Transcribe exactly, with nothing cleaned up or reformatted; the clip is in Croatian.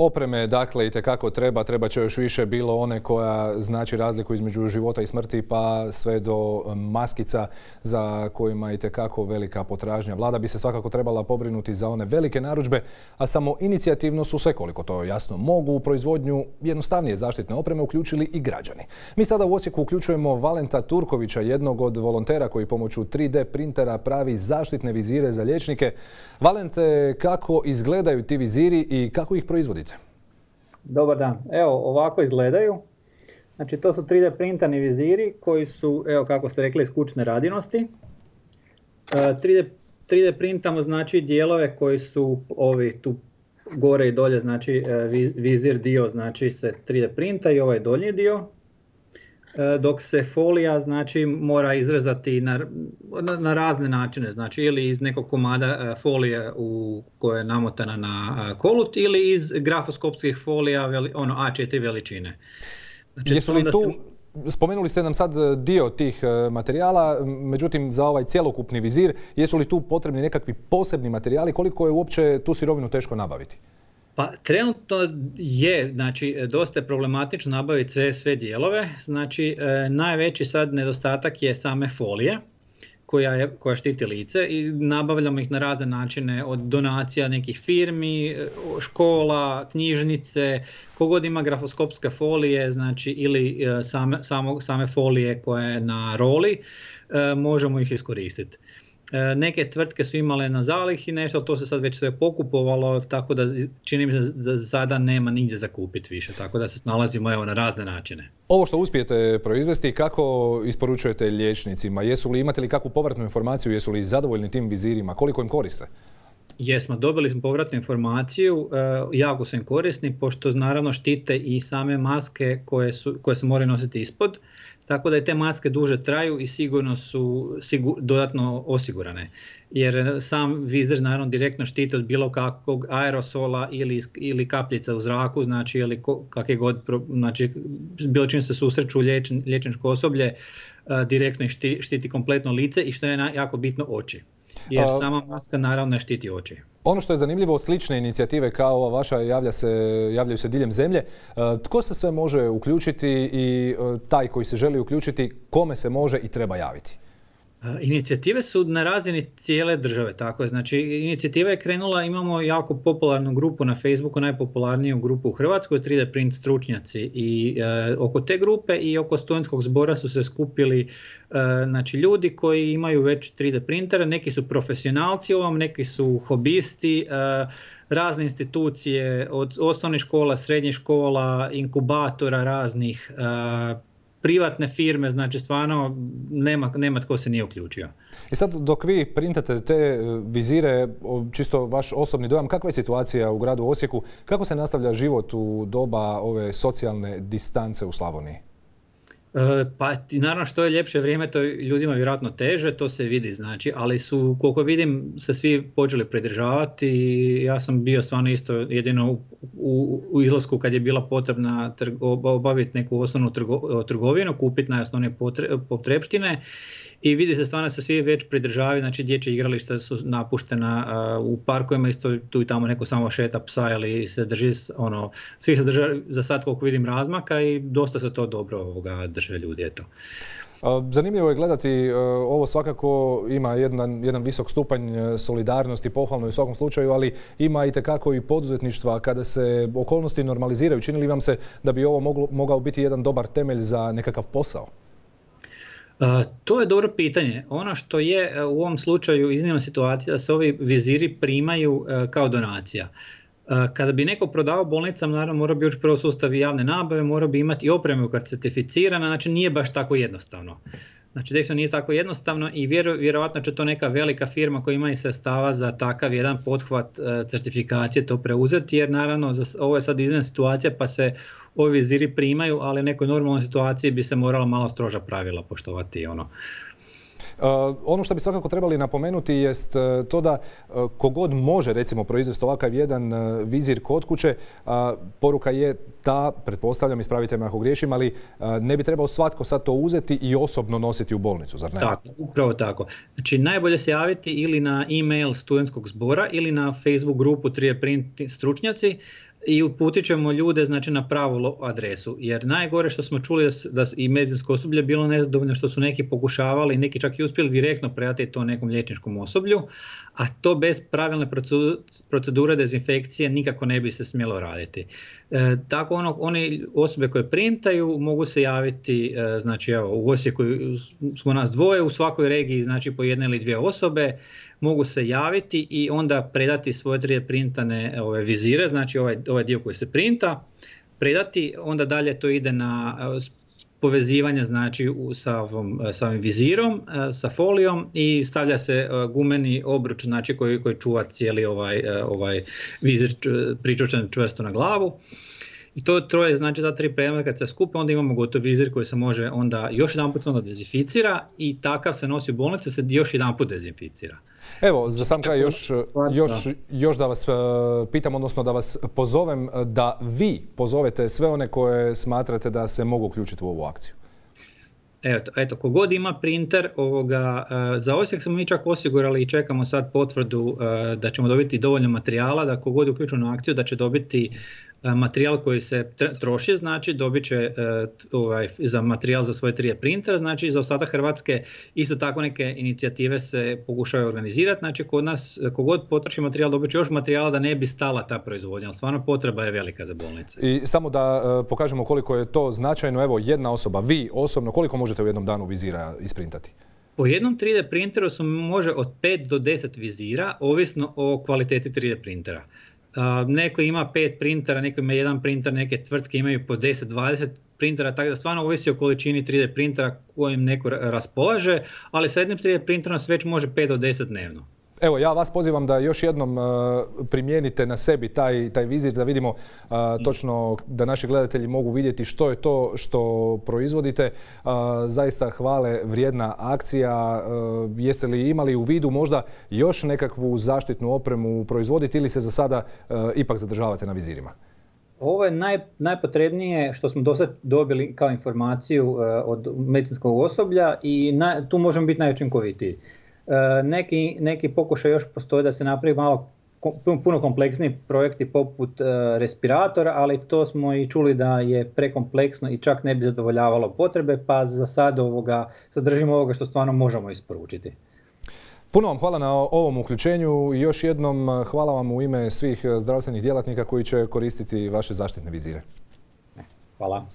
Opreme, dakle, itekako treba, treba će još više, bilo one koja znači razliku između života i smrti, pa sve do maskica za kojima je itekako velika potražnja. Vlada bi se svakako trebala pobrinuti za one velike narudžbe, a samo inicijativno su se, koliko to jasno mogu, u proizvodnju jednostavnije zaštitne opreme uključili i građani. Mi sada u Osijeku uključujemo Valenta Turkovića, jednog od volontera koji pomoću tri D printera pravi zaštitne vizire za liječnike. Valente, kako izgledaju ti viziri i kako ih proizvodite? Dobar dan. Evo, ovako izgledaju. Znači, to su tri D printani viziri koji su, evo kako ste rekli, iz kućne radinosti. tri D printamo znači dijelove koji su ovi tu gore i dolje, znači vizir dio znači se tri D printa i ovaj donji dio. Dok se folija znači mora izrezati na, na razne načine, znači ili iz nekog komada folije u koja je namotana na kolut ili iz grafoskopskih folija veli, ono A četiri veličine. Znači, jesu li tu, se... spomenuli ste nam sad dio tih materijala, međutim za ovaj cjelokupni vizir, jesu li tu potrebni nekakvi posebni materijali, koliko je uopće tu sirovinu teško nabaviti? Pa trenutno je, znači dosta je problematično nabaviti sve, sve dijelove, znači e, najveći sad nedostatak je same folije koja, je, koja štiti lice i nabavljamo ih na razne načine, od donacija nekih firmi, škola, knjižnice, kogod ima grafoskopske folije, znači ili e, same, samo, same folije koje je na roli, e, možemo ih iskoristiti. Neke tvrtke su imale na zalihi nešto, ali to se sad već sve pokupovalo, tako da čini mi se da za sada nema nigdje za kupiti više, tako da se snalazimo evo na razne načine. Ovo što uspijete proizvesti, kako isporučujete liječnicima? Jesu li, imate li kakvu povratnu informaciju, jesu li zadovoljni tim vizirima, koliko im koriste? Jesmo, dobili smo povratnu informaciju, jako su im korisni, pošto naravno štite i same maske koje, su, koje se moraju nositi ispod, tako da i te maske duže traju i sigurno su sigur, dodatno osigurane. Jer sam vizir naravno direktno štiti od bilo kakvog aerosola ili, ili kapljica u zraku, znači ili kakve god, znači bilo čim se susreću liječn, liječničko osoblje, direktno štiti, štiti kompletno lice i što je jako bitno oči. Jer sama maska naravno ne štiti oči. Ono što je zanimljivo, slične inicijative kao ova vaša javlja se, javljaju se diljem zemlje. Tko se sve može uključiti i taj koji se želi uključiti, kome se može i treba javiti? Inicijative su na razini cijele države, tako je. Znači, inicijativa je krenula, imamo jako popularnu grupu na Facebooku, najpopularniju grupu u Hrvatskoj, tri D print stručnjaci i e, oko te grupe i oko studentskog zbora su se skupili e, znači, ljudi koji imaju već tri D printere, neki su profesionalci ovom, neki su hobisti, e, razne institucije od osnovnih škola, srednjih škola, inkubatora raznih, e, privatne firme, znači stvarno nema, nema tko se nije uključio. I sad dok vi printate te vizire, čisto vaš osobni dojam, kakva je situacija u gradu Osijeku, kako se nastavlja život u doba ove socijalne distance u Slavoniji? Pa naravno što je ljepše vrijeme, to je ljudima vjerojatno teže, to se vidi, znači, ali su, koliko vidim, se svi počeli pridržavati i ja sam bio stvarno isto jedino u, u, u izlasku kad je bila potrebna trgo, obaviti neku osnovnu trgo, trgovinu, kupiti najosnovnije potrepštine i vidi se stvarno se svi već pridržavaju, znači dječja igrališta su napuštena, u parkovima isto tu i tamo neko samo šeta psa ili se drži, ono, svi se drže za sad koliko vidim razmaka i dosta se to dobro ovoga drže ljudi, eto. Zanimljivo je gledati, ovo svakako ima jedan, jedan visok stupanj solidarnosti, pohvalno je u svakom slučaju, ali ima itekako i poduzetništva kada se okolnosti normaliziraju. Čini li vam se da bi ovo moglo, mogao biti jedan dobar temelj za nekakav posao? Uh, to je dobro pitanje. Ono što je uh, u ovom slučaju iznimna situacija da se ovi viziri primaju uh, kao donacija. Uh, kada bi neko prodao bolnicama, naravno mora bi ući prvo sustav javne nabave, mora bi imati i opremu koja je certificirana, znači nije baš tako jednostavno. Znači definitivno nije tako jednostavno i vjeru, vjerojatno će to neka velika firma koja ima i sredstava za takav jedan pothvat uh, certifikacije to preuzeti, jer naravno za, ovo je sad iznimna situacija pa se ovi viziri primaju, ali u nekoj normalnoj situaciji bi se morala malo stroža pravila poštovati. Ono. Uh, ono što bi svakako trebali napomenuti jest uh, to da uh, kogod može recimo proizvesti ovakav jedan uh, vizir kod kuće, uh, poruka je ta, pretpostavljam, ispravite me ako griješim, ali uh, ne bi trebao svatko sad to uzeti i osobno nositi u bolnicu, zar ne? Tako, upravo tako. Znači najbolje se javiti ili na e-mail studentskog zbora ili na Facebook grupu tri D print stručnjaci. i uputit ćemo ljude znači, na pravu adresu. Jer najgore što smo čuli da i medicinsko osoblje bilo nezadovoljno što su neki pokušavali, neki čak i uspjeli direktno predati to nekom liječničkom osoblju, a to bez pravilne procedure dezinfekcije nikako ne bi se smjelo raditi. E, tako ono, one osobe koje printaju mogu se javiti, e, znači evo, u Osijeku smo nas dvoje, u svakoj regiji znači po jedne ili dvije osobe, mogu se javiti i onda predati svoje tri D printane ove vizire, znači ovaj, ovaj dio koji se printa, predati, onda dalje to ide na povezivanje znači sa, ovom, sa ovim vizirom, sa folijom i stavlja se gumeni obruč znači koji, koji čuva cijeli ovaj, ovaj vizir pričvršćen čvrsto na glavu. I to troje, znači ta tri predmeta kad se skupe, onda imamo gotov vizir koji se može onda još jedanput onda dezinficira i takav se nosi u bolnicu, se još jedanput dezinficira. Evo, za sam kraj još, još, još da vas pitam, odnosno da vas pozovem da vi pozovete sve one koje smatrate da se mogu uključiti u ovu akciju. Eto, eto, kogod ima printer, ovoga, za Osijek smo mi čak osigurali i čekamo sad potvrdu da ćemo dobiti dovoljno materijala, da kogod je uključen u akciju da će dobiti materijal koji se troši, znači dobit će ovaj, za materijal za svoj tri D printer, znači za ostatak Hrvatske isto tako neke inicijative se pokušaju organizirati, znači kod nas kogod potroši materijal dobit će još materijala da ne bi stala ta proizvodnja, ali stvarno potreba je velika za bolnice. I samo da uh, pokažemo koliko je to značajno, evo jedna osoba, vi osobno, koliko možete u jednom danu vizira isprintati? Po jednom tri D printeru se može od pet do deset vizira, ovisno o kvaliteti tri D printera. Uh, neko ima pet printera, neko ima jedan printer, neke tvrtke imaju po deset do dvadeset printera, tako da stvarno ovisi o količini tri D printera kojim neko raspolaže, ali sa jednim tri D printerom se već može pet do deset dnevno. Evo, ja vas pozivam da još jednom uh, primijenite na sebi taj, taj vizir, da vidimo uh, točno, da naši gledatelji mogu vidjeti što je to što proizvodite. Uh, zaista hvale vrijedna akcija. Uh, jeste li imali u vidu možda još nekakvu zaštitnu opremu proizvoditi ili se za sada uh, ipak zadržavate na vizirima? Ovo je naj, najpotrebnije što smo do sad dobili kao informaciju uh, od medicinskog osoblja i na, tu možemo biti najučinkovitiji. Neki, neki pokušaj još postoje da se napravi malo puno kompleksniji projekti poput uh, respiratora, ali to smo i čuli da je prekompleksno i čak ne bi zadovoljavalo potrebe, pa za sad ovoga, sadržimo ovoga što stvarno možemo isporučiti. Puno vam hvala na ovom uključenju i još jednom hvala vam u ime svih zdravstvenih djelatnika koji će koristiti vaše zaštitne vizire. Hvala.